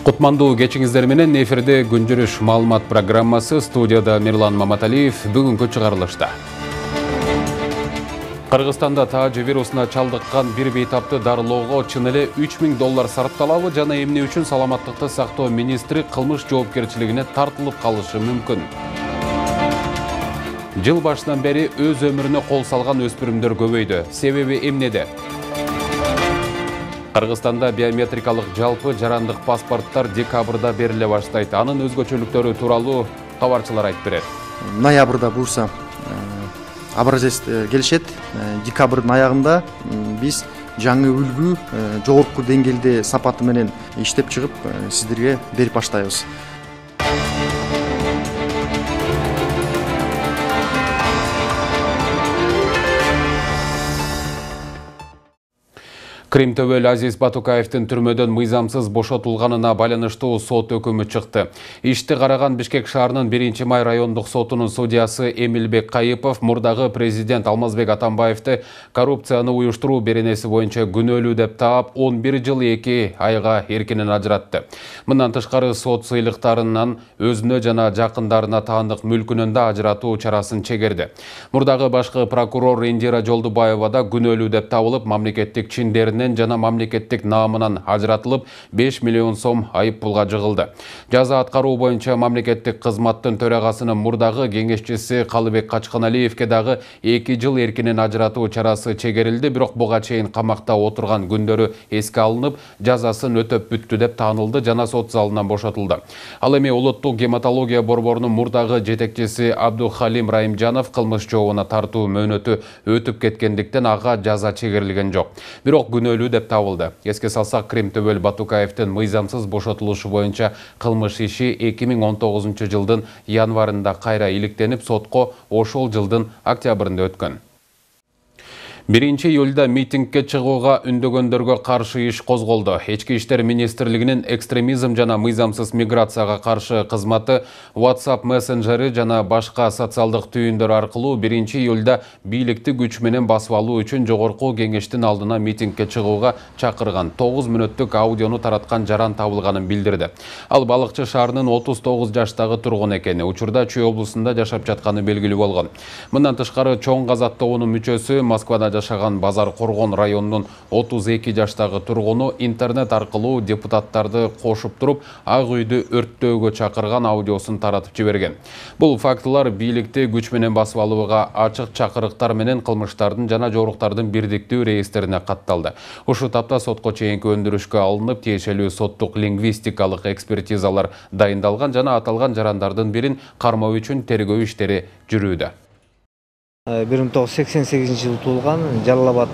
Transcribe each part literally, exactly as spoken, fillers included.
Кутмандуу кечиңиздер менен эфирде күнжүрүш маалымат программасы, студияда Мирлан Маматалиев. Бүгүнкү чыгарылышта. Кыргызстанда таажы вирусуна чалдыккан бир бейтапты дарылоого чын эле үч миң доллар сарпталабы жана эмне үчүн саламаттыкты сактоо министри кылмыш жоопкерчилигине тартылып калышы мүмкүн? Жыл башынан бери өз өмүрүнө кол салган өспүрүмдөр көбөйдү. Себеби эмнеде? Кыргызстанда биометрикалык жалпы жарандык паспорттар декабрда бериле баштайт. Анын өзгөчөлүктөрү тууралуу кабарчылар айтып берет. Ноябрда буюрса образец келишет. Декабрдын аягында биз жаңы үлгү жогорку деңгээлде сапаты менен иштеп чыгып сиздерге берип баштайбыз. Кримтөбөл Азиз Батукаевдин түрмөдөн мыйзамсыз бошотулганына байланыштуу сот өкүмү чыкты. Ишти караган Бишкек шаарынын биринчи май райондук сотунун судьясы Эмилбек Кайыпов мурдагы президент Алмазбек Атамбаевди коррупцияны уюштуруу беренеси боюнча күнөөлүү деп таап, он бир жыл эки айга эркинен ажыратты. Мындан тышкары сот сыйлыктарынан өзүнө жана жакындарына таандык мүлкүнөн да ажыратуу чарасын чегерди. Мурдагы башкы прокурор Индира Жолдубаева да күнөөлүү деп табылып, мамлекеттик чиндеринен жана мамлекеттик наамынан ажыратылып, беш миллион сом айып пулга жыгылды. Жаза аткаруу боюнча мамлекеттик кызматтын төрагасынын мурдагы кеңешчиси Калыбек Качканалиевке дагы эки жыл эркинен ажыратуу чарасы чегерилди, бирок буга чейин камакта отурган күндөрү эске алынып, жазасын өтөп бүттү деп таанылды жана сот залынан бошотулду. Ал эми улуттук гематология борборунун мурдагы жетекчиси Абдухалим Райымжанов кылмыш жообуна тартуу мөөнөтү өтүп кеткендиктен ага жаза чегерилген жок. Бирок күнөөлүү деп табылды. Эске салсак, Кримтөбөл Батукаевдин мыйзамсыз бошотулушу боюнча кылмыш иши эки миң он тогузунчу жылдын январында кайра иликтенип, сотко ошол жылдын октябрында өткөн. биринчи июлда митингге чыгууга үндөгөндөргө каршы иш козголду. Ички иштер министрлигинин экстремизм жана мыйзамсыз миграцияга каршы кызматы WhatsApp мессенджери жана башка социалдык түйүндөр аркылуу биринчи июлда бийликти күч менен басып алуу үчүн жогорку кеңештин алдына митингге чыгууга чакырган тогуз мүнөттүк аудиону тараткан жаран табылганын билдирди. Ал Балыкчы шаарынын отуз тогуз жаштагы тургун экени, учурда Чүй облусунда жашап жатканы белгилүү болгон. Мындан тышкары чоң казат тобунун мүчөсү, Москвада жашаган Базар Коргон районунун отуз эки жаштагы тургуну интернет аркылуу депутаттарды кошуп туруп, Ак үйдү өрттөөгө чакырган аудиосун таратып жиберген. Бул фактылар бийликти күч менен басып алууга ачык чакырыктар менен кылмыштардын жана жоруктардын бирдиктүү реестрине катталды. Ушу тапта сотко чейинки өндүрүшкө алынып, тиешелүү соттук лингвистикалык экспертизалар дайындалган жана аталган жарандардын бирин кармоо үчүн тергөө иштери жүрүүдө. бир миң тогуз жүз сексен сегизинчи жылы туулган, Жалал Абад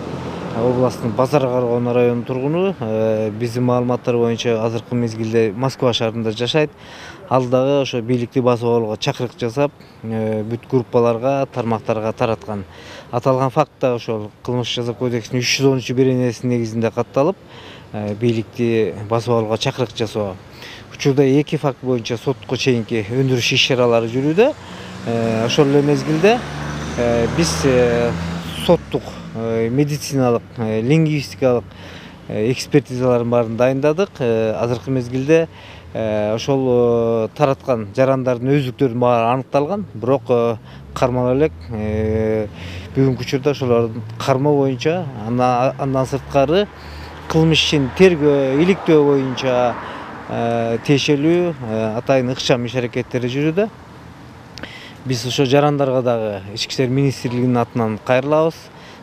областынын Базар Коргон районунун тургуну. Биздин маалыматтар боюнча азыркы мезгилде Москва шаарында жашайт. Ал дагы ошо бийликти басып алууга чакырык жасап, бүт группаларга, тармактарга тараткан. Аталган фактта ошол кылмыш жаза кодексинин үч жүз онунчу беренесинин негизинде катталып, бийликти басып алууга чакырык жасоо. Учурда эки факт боюнча сотко чейинки өндүрүш иш-чаралары жүрүүдө. Ошол эле мезгилде биз соттук, медициналык, лингвистикалык экспертизалардын баарын дайындадык. Азыркы мезгилде ошол тараткан жарандардын өздүктөрүнүн баары аныкталган, бирок кармала элек. Бүгүнкү учурда ошолордун кармоо боюнча, андан сырткары кылмыш ишин тергөө, иликтөө боюнча тиешелүү атайын ыкчам иш-аракеттери жүрүүдө. Биз ошо жарандарга дагы Ички иштер министрлигинин атынан кайрылабыз.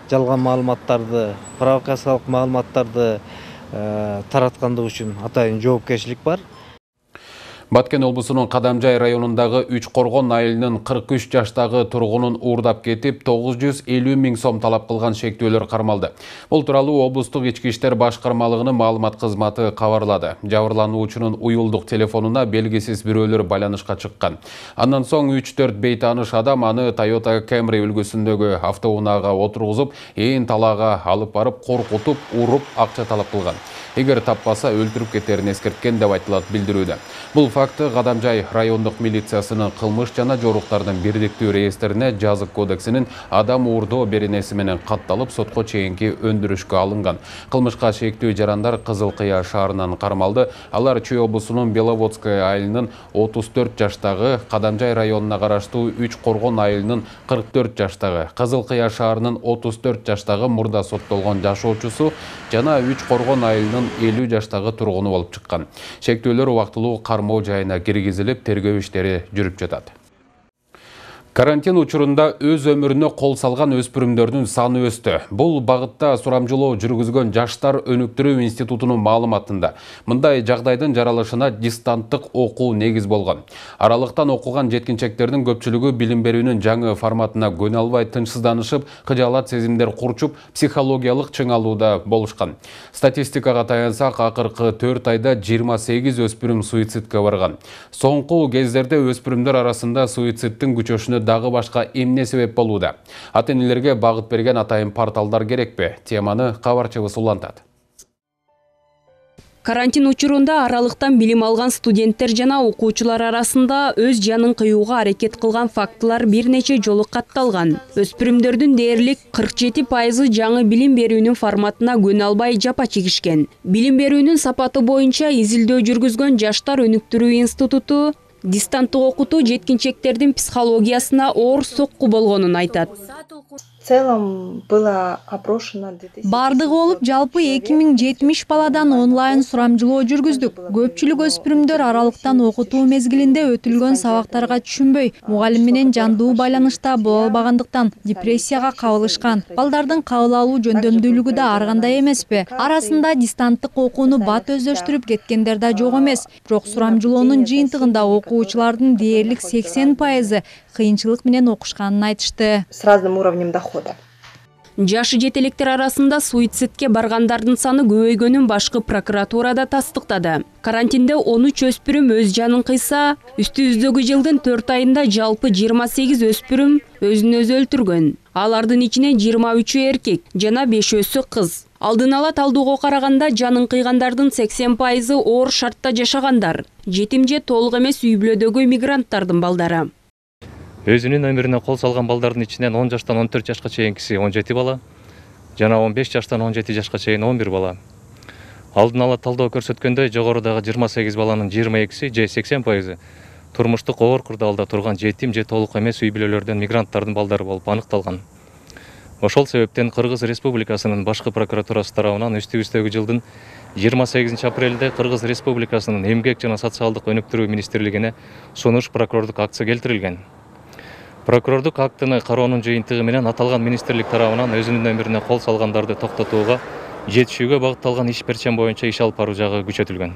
Жалган маалыматтарды, провокациялык маалыматтарды тараткандык үчүн атайын жоопкерчилик бар. Баткен облусунун Кадамжай районундагы Үч Коргон айылынын кырк үч жаштагы тургунун уурдап кетип, тогуз жүз элүү миң сом талап кылган шектөөлөр кармалды. Бул тууралуу облустук ички иштер башкармалыгынын маалымат кызматы кабарлады. Жабырлануучунун уюлдук телефонуна белгисиз бирөөлөр байланышка чыккан. Андан соң үч төрт бейтааныш адам аны Toyota Camry үлгүсүндөгү автоунаага отургузуп, ээн талаага алып барып, коркутуп, уруп, акча талап кылган. Эгер таппаса өлтүрүп кетерин эскерткен деп айтылат билдирүүдө. Бул факты Кадамжай райондук милициясынын кылмыш жана жоруктардын бирдиктүү реестрине жазык кодексинин адам уурдоо беренеси менен катталып, сотко чейинки өндүрүшкө алынган. Кылмышка шектүү жарандар Кызыл Кыя шаарынан кармалды. Алар Чүй облусунун Беловодская айылынын отуз төрт жаштагы, Кадамжай районуна караштуу Үч Коргон айылынын кырк төрт жаштагы, Кызыл Кыя шаарынын отуз төрт жаштагы мурда соттолгон жашоочусу жана Үч Коргон айылынын элүү жаштагы тургуну болуп чыккан. Шектөөлөр убактылуу кармоо жайына киргизилип, тергөө иштери жүрүп жатат. Карантин учурунда өз өмүрүнө кол салган өспүрүмдөрдүн саны өстү. Бул багытта сурамжылоо жүргүзгөн Жаштар өнүктүрүү институтунун маалыматында мындай жагдайдын жаралышына дистанттык окуу негиз болгон. Аралыктан окуган жеткинчектердин көпчүлүгү билим берүүнүн жаңы форматына көнө албай тынчсызданышып, кыжаалат сезимдер курчуп, психологиялык чыңалууда болушкан. Статистикага таянсак, акыркы төрт айда жыйырма сегиз өспүрүм суицидке барган. Соңку кездерде өспүрүмдөр арасында суицидтин күчөшүнө дагы башка эмне себеп болууда? Ата-энелерге багыт берген атайын порталдар керекпи? Теманы кабарчыбыз улантат. Карантин учурунда аралыктан билим алган студенттер жана окуучулар арасында өз жанын кыюуга аракет кылган фактылар бир нече жолу катталган. Өспүрүмдөрдүн дээрлик кырк жети пайызы жаңы билим берүүнүн форматына көнө албай жапа чегишкен. Билим берүүнүн сапаты боюнча изилдөө жүргүзгөн Жаштар өнүктүрүү институту дистанттык окутуу жеткинчектердин психологиясына оор сокку болгонун айтат. В целом было опрошено бардыгы болуп жалпы эки миң жетимиш баладан онлайн сурамжылоо жүргүздүк. Көпчүлүк өспүрүмдөр аралыктан окутуу мезгилинде өтүлгөн сабактарга түшүнбөй, мугалим менен жандуу байланышта боло албагандыктан депрессияга кабылышкан. Балдардын кабыл алуу жөндөмдүүлүгү да ар кандай эмеспи. Арасында дистанттык окууну бат өздөштүрүп кеткендер да жок эмес. Бирок сурамжылоонун жыйынтыгында окуучулардын дээрлик сексен пайызы кыйынчылык менен окушканын айтышты. С разным уровнем дохода. Жашы жетелектер арасында суицидке баргандардын саны көбөйгөнүн башкы прокуратурада тастыктады. Карантинде он үч өспүрүм өз жанын кыйса, үстүбүздөгү жылдын төрт айында жалпы жыйырма сегиз өспүрүм өзүн өзү өлтүргөн. Алардын ичинен жыйырма үчү эркек жана бешөөсү кыз. Алдын ала талдоого караганда жанын кыйгандардын сексен пайызы оор шартта жашагандар. Жетим же толук эмес үй бүлөдөгү мигранттардын балдары. Өзүнүн өмүрүнө кол салган балдардын ичинен он жаштан он төрт жашка чейинкиси он жети бала, жана он беш жаштан он жети жашка чейин он бир бала. Алдын ала талдоо көрсөткөндөй, жогорудагы жыйырма сегиз баланын жыйырма экиси же сексен пайызы турмуштук оор курдалда турган жетим же толук эмес үй бүлөлөрдөн мигранттардын балдары болуп аныкталган. Ошол себептен Кыргыз Республикасынын башкы прокуратурасы тарабынан үстүбүздөгү жылдын жыйырма сегизинчи апрелде Кыргыз Республикасынын Эмгек жана социалдык өнүктүрүү министрлигине сунуш прокурордук акция келтирилген. Прокурордук актыны кароонун жыйынтыгы менен аталган министрлик тарабынан өзүнүн өмүрүнө кол салгандарды токтотууга жетишүүгө багытталган иш перчем боюнча иш алып баруу жагы күчөтүлгөн.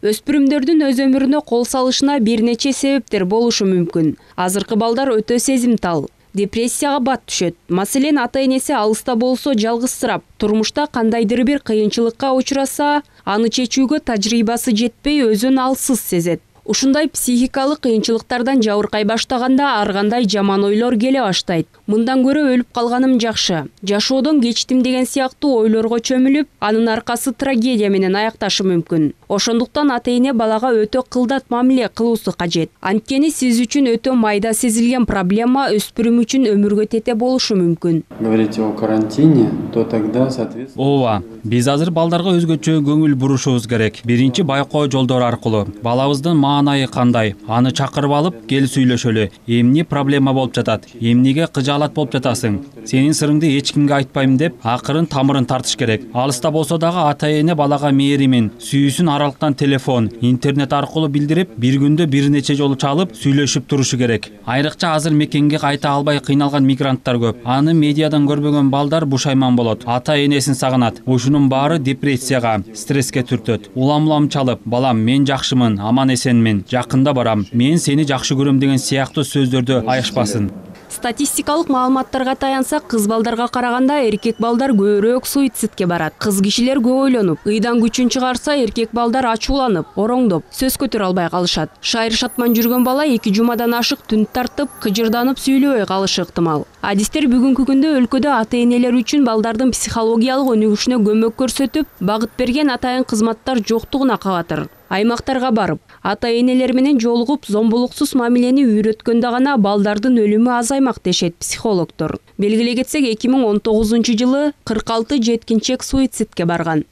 Өспүрүмдөрдүн өз өмүрүнө кол салышына бир нече себептер болушу мүмкүн. Азыркы балдар өтө сезимтал, депрессияга бат түшөт. Маселен, ата-энеси алыста болсо жалгызсырап, турмушта кандайдыр бир кыйынчылыкка учураса, аны чечүүгө тажрыйбасы жетпей өзүн алсыз сезет. Ушундай психикалык кыйынчылыктардан жабыркай баштаганда ар кандай жаман ойлор келе баштайт. Мындан көрө өлүп калганым жакшы, жашоодон кечтим деген сыяктуу ойлорго чөмүлүп, анын аркасы трагедия менен аякташы мүмкүн. Ошондуктан ата-эне балага өтө кылдат мамиле кылуусу кажет. Анткени сиз үчүн өтө майда сезилген проблема өспүрүм үчүн өмүргө тете болушу мүмкүн. Говорите о карантине, то тогда соответственно. Ооба, биз азыр балдарга өзгөчө көңүл бурушубуз керек. Биринчи байкоо жолдору аркылуу балабыздын маанайы кандай, аны чакырып алып, кел сүйлөшөлү. Эмне проблема болуп жатат? Эмнеге кыжаалат болуп жатасың? Сенин сырыңды эч кимге айтпайм деп, акырын тамырын тартыш керек. Алыста болсо дагы ата-эне балага мээримин, сүйүүсүн аралыктан телефон, интернет аркылуу билдирип, бир күндө бир нече жолу чалып, сүйлөшүп турушу керек. Айрыкча азыр мекенге кайта албай кыйналган мигранттар көп. Аны медиадан көрбөгөн балдар бушайман болот. Ата-энесин сагынат. Ушунун баары депрессияга, стресске түртөт. Улам-улам чалып, балам мен жакшымын, аман эсенмин. келемин, жакында барам, мен сени жакшы көрөм деген сыяктуу сөздөрдү аябашпасын. Статистикалык маалыматтарга таянсак, кыз балдарга караганда эркек балдар көбүрөөк суицидке барат. Кыз кишилер көп ойлонуп, ыйдан күчүн чыгарса, эркек балдар ачууланып, ороңдоп, сөз көтөрө албай калышат. Шайыр шатман жүргөн бала эки жумадан ашык түн тартып, кыжырданып сүйлөбөй калышы ыктымал. Адистер бүгүнкү күндө өлкөдө ата-энелер үчүн балдардын психологиялык өнүгүшүнө көмөк көрсөтүп, багыт берген атайын кызматтар жоктугуна кабатыр. Аймактарга барып, ата-энелер менен жолугуп, зомбулуксуз мамилени үйрөткөндө гана балдардын өлүмү азаймак дешет психологдор. Белгилей кетсек, эки миң он тогузунчу жылы кырк алты жеткинчек суицидке барган.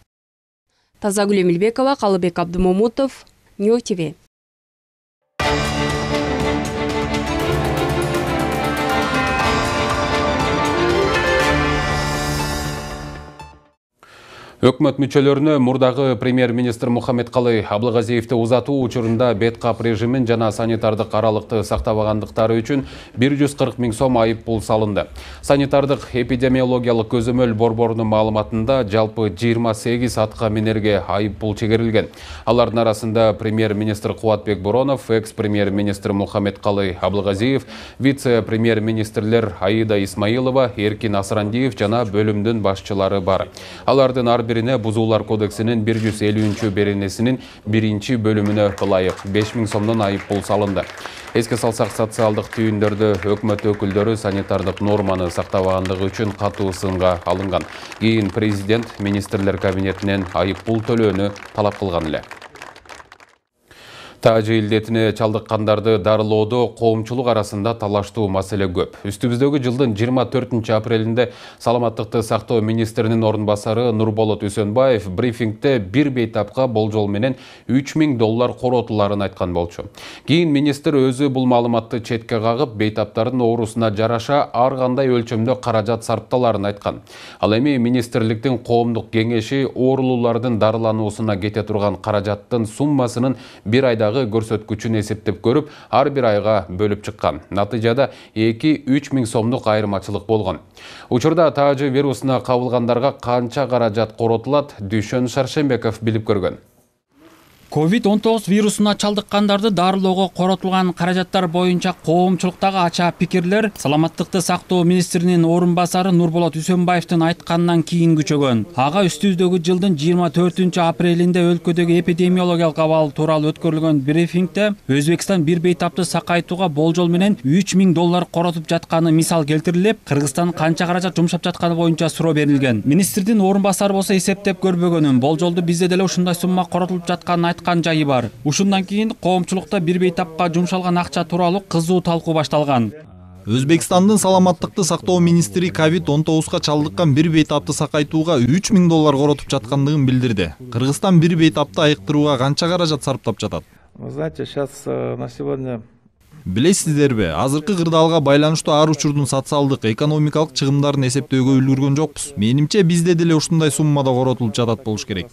Тазагүл Эмилбекова, Калыбек Абдымомутов, Нью ТВ. Өкмөт мүчөлөрүнө мурдагы премьер-министр Мухаммедкалый Аблыгазиевди узатуу учурунда бет кап режимин жана санитардык аралыкты сактабагандыктары үчүн бир жүз кырк миң сом айып пул салынды. Санитардык эпидемиологиялык көзөмөл борборунун маалыматында жалпы жыйырма сегиз атка минерге айып пул чегерилген. Алардын арасында премьер-министр Кубатбек Боронов, экс-премьер-министр Мухаммедкалый Аблыгазиев, вице-премьер-министрлер Аида Исмаилова, Эркин Асрандиев жана бөлүмдүн башчылары бар. Алардын ар бирине Бузуулар кодексинин бир жүз элүүнчү беренесинин биринчи бөлүмүнө ылайык беш миң сомдон айып пул салынды. Эске салсак, социалдык түйүндөрдө өкмөт өкүлдөрү санитардык норманы сактабагандыгы үчүн катуу сынга алынган. Кийин президент министрлер кабинетинен айып пул төлөөнү талап кылган эле. Тажы илдетине чалдыккандарды дарылоодо коомчулук арасында талаштуу маселе көп. Үстүбүздөгү жылдын жыйырма төртүнчү апрелинде саламаттыкты сактоо министринин орун басары Нурболот Үсөнбаев брифингде бир бейтапка болжол менен үч миң доллар коротуларын айткан болчу. Кийин министр өзү бул маалыматты четке кагып, бейтаптардын оорусуна жараша ар кандай өлчөмдө каражат сарпталарын айткан. Ал эми министрликтин коомдук кеңеши оорулуулардын дарылануусуна кете турган каражаттын суммасынын бир айдагы көрсөткүчүн эсептеп көрүп, ар бир айга бөлүп чыккан. Натыйжада эки-үч миң сомдук айырмачылык болгон. Учурда тажы вирусуна кабылгандарга канча каражат коротулат, Дүйшөн Шаршембеков билип көргөн. ковид он тогуз вирусуна чалдыккандарды дарылоого коротулган каражаттар боюнча коомчулуктагы ачаа пикирлер саламаттыкты сактоо министринин орун басары Нурболот Үсөнбаевдин айтканынан кийин күчөгөн. Ага үстүбүздөгү жылдын жыйырма төртүнчү апрелинде өлкөдөгү эпидемиологиялык абал тууралуу өткөрүлгөн брифингде Өзбекстан бир бейтапты сакайтууга болжол менен үч миң доллар коротуп жатканы мисал келтирилип, Кыргызстан канча каражат жумшап жатканы боюнча суроо берилген. Министрдин орун басары болсо эсептеп көрбөгөнүн, болжолду бизде деле ушундай сумма коротулуп жатканын айткан жайы бар. Ушундан кийин коомчулукта бир бейтапка жумшалган акча тууралуу кызуу талкуу башталган. Өзбекстандын саламаттыкты сактоо министри ковид он тогузга чалдыккан бир бейтапты сакайтууга үч миң доллар коротуп жаткандыгын билдирди. Кыргызстан бир бейтапты айыктырууга канча каражат сарптап жатат? Вы знаете, сейчас на сегодня Билесиздерби, азыркы кырдаалга байланыштуу ар учурдун социалдык, экономикалык чыгымдарын эсептөөгө үлгүргөн жокпуз. Менимче бизде деле ушундай суммада коротулуп жатат болуш керек.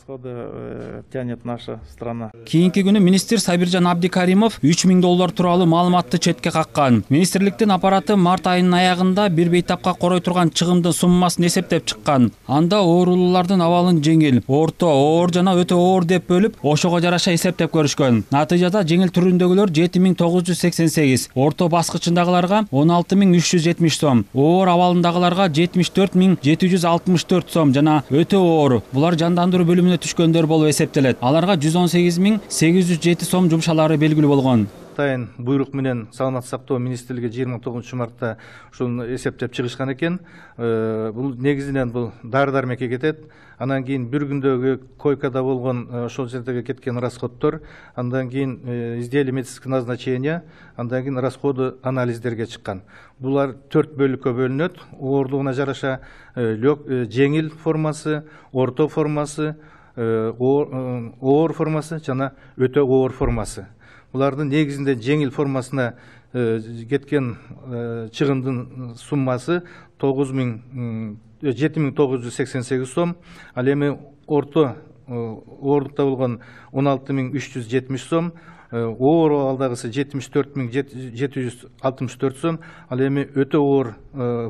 тянет наша страна. Кийинки күнү министр Сабиржан Абдикаримов үч миң доллар тууралуу маалыматты четке каккан. Министрликтин аппараты март айынын аягында бир бейтапка корой турган чыгымдын суммасын эсептеп чыккан. Анда оорулуулардын абалын жеңил, орто, оор жана өтө оор деп бөлүп, ошого жараша эсептеп көрүшкөн. Натыйжада жеңил түрүндөгүлөр жети миң тогуз жүз сексен сегиз, орто баскычындагыларга он алты миң үч жүз жетимиш сом, оор абалындагыларга жетимиш төрт миң жети жүз алтымыш төрт сом жана өтө оор, булар жандандыруу бөлүмүнө түшкөндөр болуп эсептелет. Аларга жүз он сегиз миң сегиз жүз жети сом жумшалары белгилүү болгон. Атайын буйрук менен саламаттык сактоо министрлиги жыйырма тогузунчу мартта ушуну эсептеп чыгышкан экен. Бул негизинен бул дары дармекке кетет. Андан кийин бир күндөгү койкада болгон ошол жердеги кеткен расходдор, андан кийин изделие медицинского назначения, андан кийин расходы анализдерге чыккан. Булар төрт бөлүккө бөлүнөт. Оорлугуна жараша жеңил формасы, орто формасы, оор формасы жана өтө оор формасы. Булардын негизинде жеңил формасына кеткен чыгымдын суммасы жети миң тогуз жүз сексен сегиз сом, ал эми орто оорлукта болгон он алты миң үч жүз жетимиш сом, оор абалдагысы жетимиш төрт миң жети жүз алтымыш төрт сом, ал эми өтө оор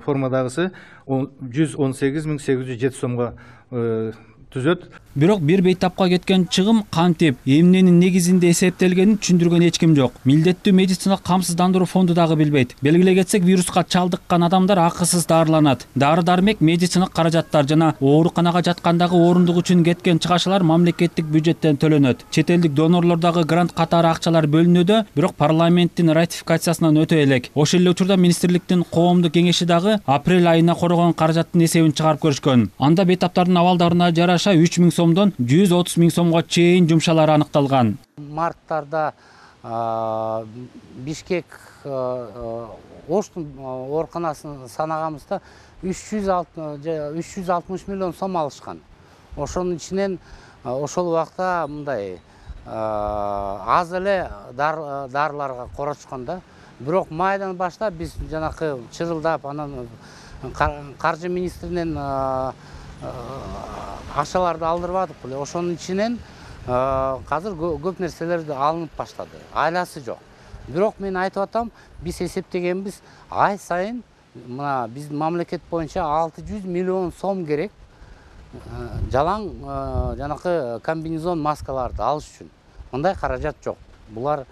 формадагысы жүз он сегиз миң сегиз жүз жети сомго түзөт. Бирок бир бейтапка кеткен чыгым кантип эмненин негизинде эсептелгенин түшүндүргөн эч ким жок. Милдеттүү медицина камсыздандыруу фонду дагы билбейт. Белгилей кетсек, вируска чалдыккан адамдар акысыз дарыланат. Дары-дармек, медициналык каражаттар жана ооруканага жаткандагы орундук үчүн кеткен чыгашалар мамлекеттик бюджеттен төлөнөт. Чет элдик донорлордогу грант катары акчалар бөлүнүүдө, бирок парламенттин ратификациясынан өтө элек. Ошол эле учурда министрликтин коомдук кеңеши дагы апрель айына коргон каражаттын эсебин чыгарып көрүшкөн. Анда бейтаптардын абалдарына жараша үч миң сомдон жүз отуз миң сомго чейин жумшалары аныкталган. Марттарда Бишкек Оштун ооруканасын санагамызда үч жүз алтымыш миллион сом алышкан. Ошонун ичинен ошол убакта мындай аз эле дарыларга корочкон да. Бирок майдан баштап биз жанакы чырылдап, анан каржы министринен акчаларды алдырбадык беле. Ошонун ичинен азыр көп нерселер алынып баштады. Айласы жок. Бирок мен айтып атам, биз эсептегенбиз, ай сайын мына биздин мамлекет боюнча алты жүз миллион сом керек жалаң жанакы комбинезон маскаларды алыш үчүн. Мындай каражат жок. Булар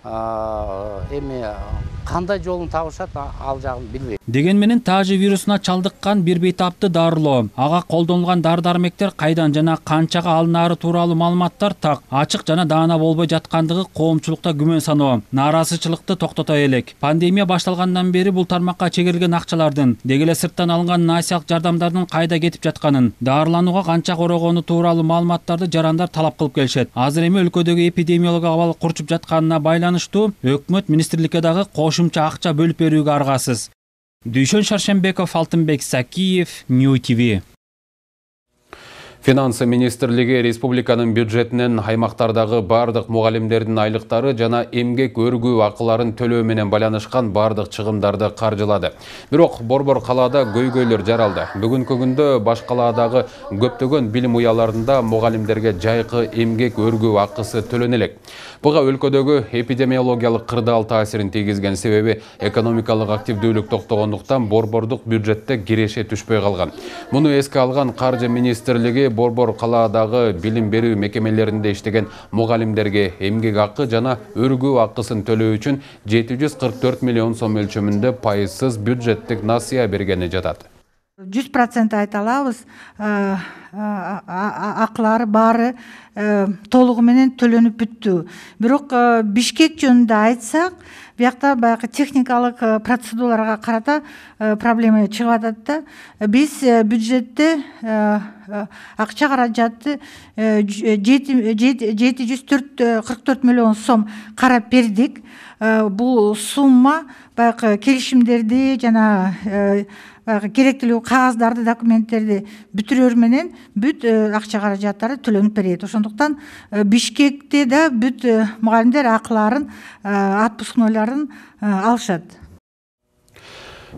эми кандай жолун табышат, ал жагын билбейм. Деген менен тажы вирусуна чалдыккан бир бейтапты дарылоо, ага колдонулган дары-дармектер кайдан жана канчага алынаары тууралуу маалыматтар так, ачык жана даана болбой жаткандыгы коомчулукта күмөн саноо, нааразычылыкты токтото элек. Пандемия башталгандан бери бул тармакка чегерилген акчалардын, деги эле сырттан алынган насиялык жардамдардын кайда кетип жатканын, дарыланууга канча корогону тууралуу маалыматтарды жарандар талап кылып келишет. Азыр эми өлкөдөгү эпидемиологиялык абал курчуп жатканына байланыштуу өкмөт министрликке дагы кошумча акча бөлүп берүүгө аргасыз. Дүйшөн Шаршембеков, Алтынбек Сакиев, Нью ТВ. Финансы министрлиги республиканын бюджетинен аймактардагы бардык мугалимдердин айлыктары жана эмгек өргүү акыларын төлөө менен байланышкан бардык чыгымдарды каржылады. Бирок Борбор калаада көйгөйлөр жаралды. Бүгүнкү күндө баш калаадагы көптөгөн билим уяларында мугалимдерге жайкы эмгек өргүү акысы төлөнө элек. Буга өлкөдөгү эпидемиологиялык кырдаал таасирин тийгизген, себеби экономикалык активдүүлүк токтогондуктан борбордук бюджетте киреше түшпөй калган. Муну эске алган Каржы министрлиги Борбор калаадагы билим берүү мекемелеринде иштеген мугалимдерге эмгек акы жана өргүү акысын төлөө үчүн жети жүз кырк төрт миллион сом өлчөмүндө пайызсыз бюджеттик насыя бергени жатат. жүз процент айта алабыз, акылары баары толугу менен төлөнүп бүттү. Бирок Бишкек жөнүндө айтсак, биякта баягы техникалык процедураларга карата проблема чыгып атат да. Биз бюджетте акча каражатты жети жүз кырк төрт миллион сом карап бердик. Бул сумма баягы келишимдерди жана керектүү кагаздарды, документтерди бүтүрөр менен бүт акча каражаттары төлөнүп берет. Ошондуктан Бишкекте да бүт мугалимдер акыларын, отпускнойларын алышат.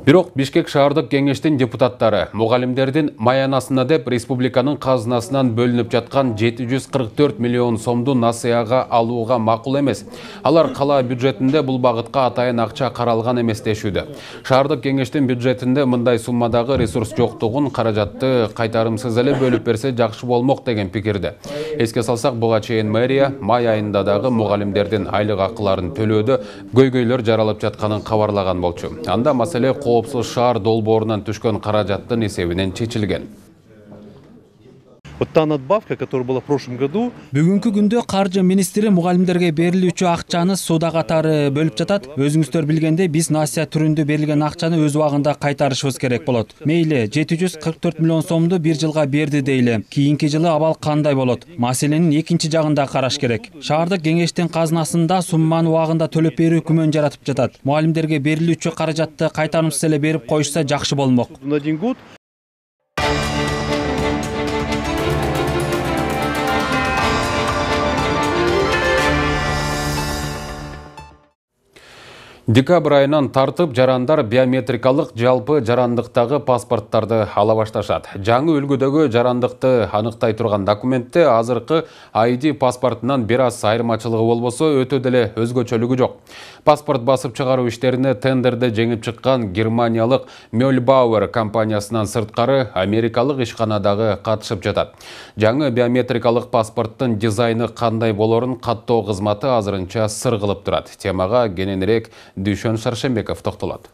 Бирок Бишкек шаардык кеңештин депутаттары мугалимдердин маянасына деп республиканын казынасынан бөлүнүп жаткан жети жүз кырк төрт миллион сомду насыяга алууга макул эмес. Алар кала бюджетинде бул багытка атайын акча каралган эмес дешүүдө. Шаардык кеңештин бюджетинде мындай суммадагы ресурс жоктугун, каражатты кайтарымсыз эле бөлүп берсе жакшы болмок деген пикирде. Эске салсак, буга чейин мэрия май айында дагы мугалимдердин айлык акыларын төлөөдө көйгөйлөр жаралып жатканын кабарлаган болчу. Анда маселе коопсуз шаар долбоорунан түшкөн каражаттын эсебинен чечилген. Вот та надбавка, которая была в прошлом году. Бүгүнкү күндө каржы министри мугалимдерге берилүүчү акчаны суда катары бөлүп жатат. Өзүңүздөр билгендей, биз насыя түрүндө берилген акчаны өз убагында кайтарышыбыз керек болот. Мейли, жети жүз кырк төрт миллион сомду бир жылга берди дейли. Кийинки жылы абал кандай болот? Маселенин экинчи жагында караш керек. Шаардык кеңештин казынасында сумманы убагында төлөп берүү күмөн жаратып жатат. Мугалимдерге берилүүчү каражатты кайтарымсыз эле берип коюшса жакшы болмок. На один год. Декабрь айынан тартып жарандар биометрикалык жалпы жарандыктагы паспорттарды ала башташат. Жаңы үлгүдөгү жарандыкты аныктай турган документте азыркы ай ди паспортунан бир аз айырмачылыгы болбосо өтө деле өзгөчөлүгү жок. Паспорт басып чыгаруу иштерине тендерде жеңип чыккан германиялык Mühlbauer компаниясынан сырткары америкалык ишканадагы катышып жатат. Жаңы биометрикалык паспорттун дизайны кандай болорун каттоо кызматы азырынча сыр кылып турат. Темага кененирээк Дүйшөн Шаршембеков токтолот.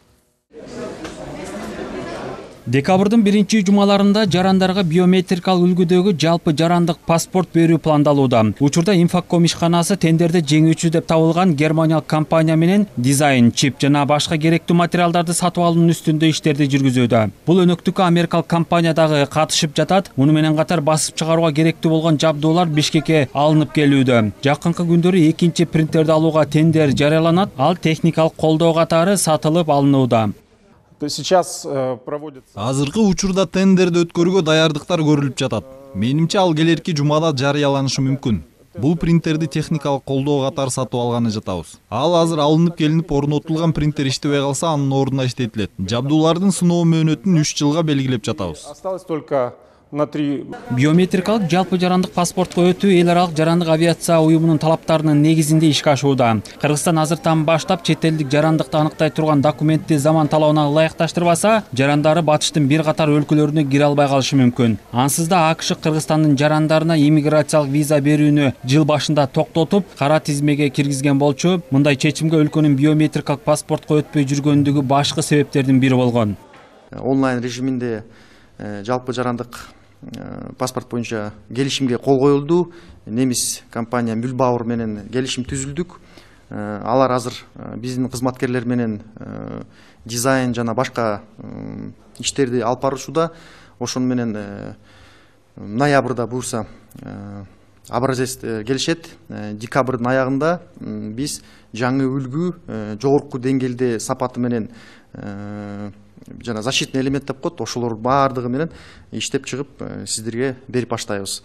Декабрдын биринчи жумаларында жарандарга биометрикалык үлгүдөгү жалпы жарандык паспорт берүү пландалууда. Учурда Инфоком ишканасы тендерде жеңүүчү деп табылган германиялык компания менен дизайн, чип жана башка керектүү материалдарды сатып алуунун үстүндө иштерди жүргүзүүдө. Бул өнөктүккө америкалык компания дагы катышып жатат. Муну менен катар басып чыгарууга керектүү болгон жабдуулар Бишкекке алынып келүүдө. Жакынкы күндөрү экинчи принтерди алууга тендер жарыяланат. Ал техникалык колдоо катары сатылып алынууда. Азыркы учурда тендерди өткөрүүгө даярдыктар көрүлүп жатат. Менимче ал келерки жумада жарыяланышы мүмкүн. Бул принтерди техникалык колдоо катары сатып алганы жатабыз. Ал азыр алынып келинип орнотулган принтер иштебей калса анын ордуна иштетилет. Жабдуулардын сыноо мөөнөтүн үч жылга белгилеп жатабыз. Биометрикалык жалпы жарандык паспортко өтүү эл аралык жарандык авиация уюмунун талаптарынын негизинде ишке ашууда. Кыргызстан азыртан баштап чет элдик жарандыкты аныктай турган документти заман талабына ылайыкташтырбаса, жарандары батыштын бир катар өлкөлөрүнө кире албай калышы мүмкүн. Ансыз да АКШ Кыргызстандын жарандарына иммиграциялык виза берүүнү жыл башында токтотуп, кара тизмеге киргизген болчу. Мындай чечимге өлкөнүн биометрикалык паспортко өтпөй жүргөндүгү башкы себептердин бири болгон. Онлайн режиминде жалпы жарандык паспорт боюнча келишимге кол коюлду. Немис компания Mühlbauer менен келишим түзүлдүк. Алар азыр биздин кызматкерлер менен дизайн жана башка иштерди алып барышууда. Ошону менен ноябрда буюрса образец келишет. Декабрдын аягында биз жаңы үлгү жогорку деңгээлде сапаты менен жана защитный элемент деп коет, ошолор баардыгы менен иштеп чыгып сиздерге берип баштайбыз.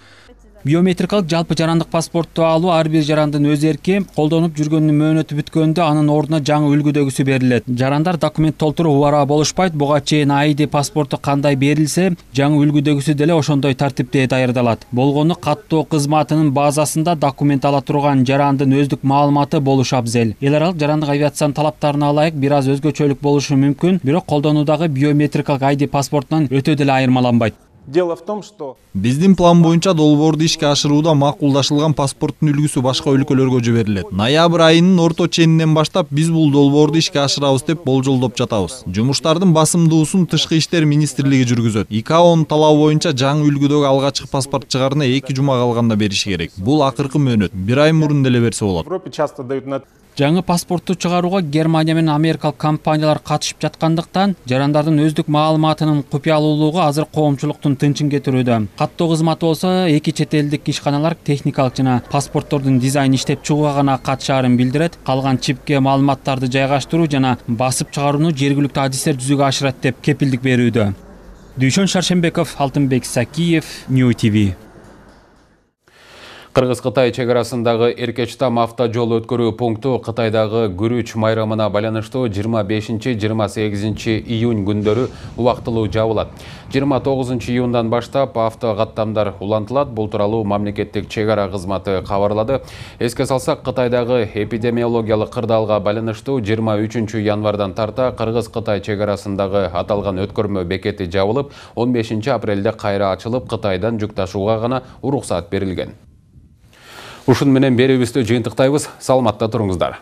Биометрикалык жалпы жарандык паспортту алуу ар бир жарандын өз эрки, колдонуп жүргөнүнүн мөөнөтү бүткөндө анын ордуна жаңы үлгүдөгүсү берилет. Жарандар документ толтуруу убара болушпайт. Буга чейин ай ди паспорту кандай берилсе, жаңы үлгүдөгүсү деле ошондой тартипте даярдалат. Болгону каттоо кызматынын базасында документ ала турган жарандын өздүк маалыматы болушу абзел. Эл аралык жарандык авиациянын талаптарына ылайык бир аз өзгөчөлүк болушу мүмкүн, бирок колдонуудагы биометрикалык ай ди паспортунан өтө деле айырмаланбайт. Дело в том, что биздин план боюнча долбоорду ишке ашырууда макулдашылган паспорттун үлгүсү башка өлкөлөргө жиберилет. Ноябрь айынын орто ченинен баштап биз бул долбоорду ишке ашырабыз деп болжолдоп жатабыз. Жумуштардын басымдуусун Тышкы иштер министрлиги жүргүзөт. ИКАОнун талабы боюнча жаңы үлгүдөгү алгачкы паспорт чыгарууна эки жума калганда бериши керек. Бул акыркы мөөнөт. Бир ай мурун деле берсе болот. Жаңы паспортту чыгарууга Германия менен америкалык компаниялар катышып жаткандыктан, жарандардын өздүк маалыматынын купуялуулугу азыр коомчулуктун тынчын кетирүүдө. Каттоо кызматы болсо эки чет элдик ишканалар техникалык жана паспорттордун дизайн иштеп чыгууга гана катышаарын билдирет. Калган чипке маалыматтарды жайгаштыруу жана басып чыгарууну жергиликтүү адистер жүзөгө ашырат деп кепилдик берүүдө. Дүйшөн Шаршембеков, Алтынбек Сакиев, Нью ти ви. Кыргыз-Кытай чек арасындагы Эркечтам автожол өткөрүү пункту Кытайдагы Күрүч майрамына байланыштуу жыйырма бешинчи — жыйырма сегизинчи июнь күндөрү убактылуу жабылат. жыйырма тогузунчу июндан баштап авто каттамдар улантылат. Бул тууралуу мамлекеттик чек ара кызматы кабарлады. Эске салсак, Кытайдагы эпидемиологиялык кырдаалга байланыштуу жыйырма үчүнчү январдан тарта Кыргыз-Кытай чек арасындагы аталган өткөрмө бекети жабылып, он бешинчи апрелде кайра ачылып, Кытайдан жүк ташууга гана уруксат берилген. Ушун менен берүүбүздү жыйынтыктайбыз. Саламатта туруңуздар.